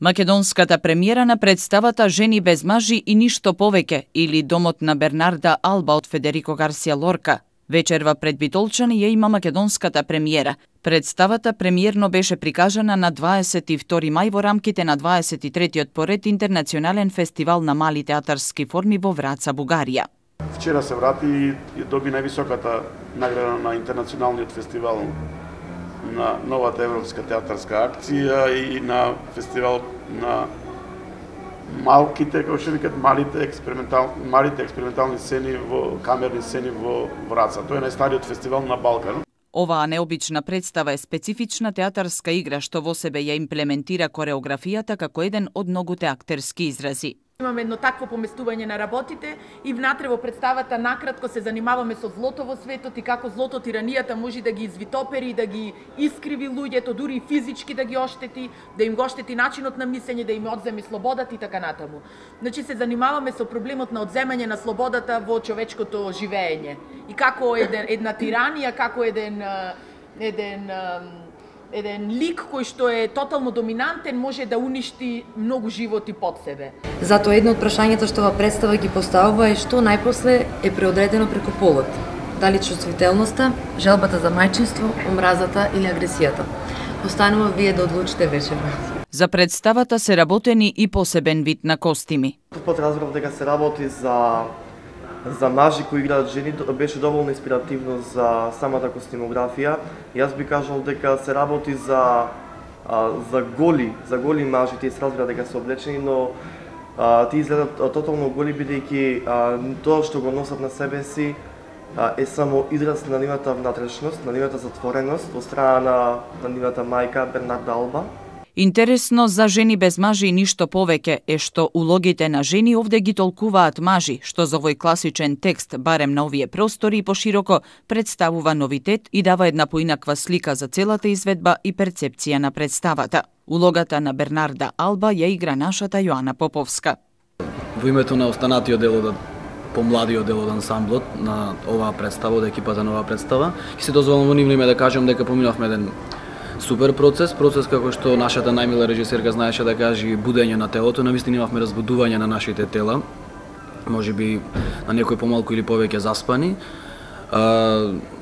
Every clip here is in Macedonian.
Македонската премиера на представата Жени без мажи и ништо повеќе или Домот на Бернарда Алба од Федерико Гарсија Лорка. Вечерва пред Битолчани ја има македонската премиера. Представата премиерно беше прикажана на 22 мај во рамките на 23-тиот поред интернационален фестивал на мали театарски форми во Враца, Бугарија. Вчера се врати и доби највисоката награда на интернационалниот фестивал на новата европска театарска акција и на фестивал на малките, како што викат, малите експериментални сцени камерни сцени во Враца. Тоа е најстариот фестивал на Балкан. Оваа необична представа е специфична театарска игра што во себе ја имплементира кореографијата како еден од многуте актерски изрази. Имаме едно такво поместување на работите и внатре во представата накратко се занимаваме со злото во светот и како злото тиранијата може да ги извитопери, да ги искриви луѓето, дури и физички да ги оштети, да им го оштети начинот на мислење, да им одземе слободата и така натаму. Значи се занимаваме со проблемот на одземање на слободата во човечкото живеење и како една тиранија, како еден лик кој што е тотално доминантен може да уништи многу животи под себе. Затоа едно од прашањата што ова представа ги поставува е што најпосле е преодредено преку полот. Дали чувствителноста, желбата за мајчинство, омразата или агресијата. Останува вие да одлучите вечерва. За представата се работени и посебен вид на костими. Разбрав дека се работи за мажи кои играат жени, беше доволно инспиративно за самата костимографија. Јас би кажал дека се работи за голи мажи, тие се разбира дека се облечени, но тие изгледат тотално голи бидејќи тоа што го носат на себе си е само израз на нивната внатрешност, на нивната затвореност во страна на нивната мајка Бернарда Алба. Интересно за Жени без мажи и ништо повеќе е што улогите на жени овде ги толкуваат мажи, што за овој класичен текст, барем на овие простори и пошироко, представува новитет и дава една поинаква слика за целата изведба и перцепција на представата. Улогата на Бернарда Алба ја игра нашата Јоана Поповска. Во името на останатиот дел од помладиот дел од ансамблот на оваа представа, од екипата на оваа представа, ќе се дозволам во нивно име да кажам дека поминавме еден супер процес како што нашата најмила режисерка знаеше да каже будење на телото, навистина имавме разбудување на нашите тела, можеби на некој помалку или повеќе заспани.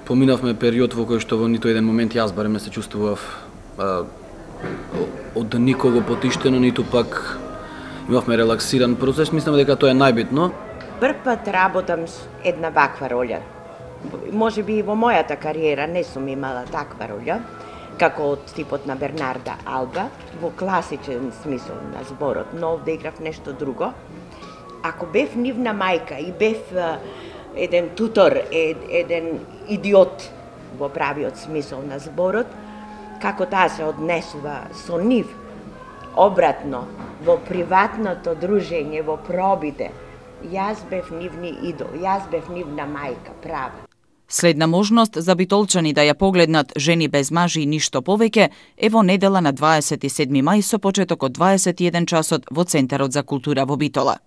Поминавме период во кој што во ниту еден момент јас барем не се чувствував од никого потиштено, ниту пак имавме релаксиран процес, мислам дека тоа е најбитно. Прв пат работам една ваква роља. Можеби и во мојата кариера не сум имала таква роља, како од типот на Бернарда Алба, во класичен смисол на зборот, но овде играв нешто друго. Ако бев нивна мајка и бев еден тутор, еден идиот во правиот смисол на зборот, како таа се однесува со нив, обратно, во приватното дружење, во пробите, јас бев нивни идол, јас бев нивна мајка, права. Следна можност за битолчани да ја погледнат Жени без мажи и ништо повеќе е во недела на 27 мај со почеток од 21 часот во Центарот за култура во Битола.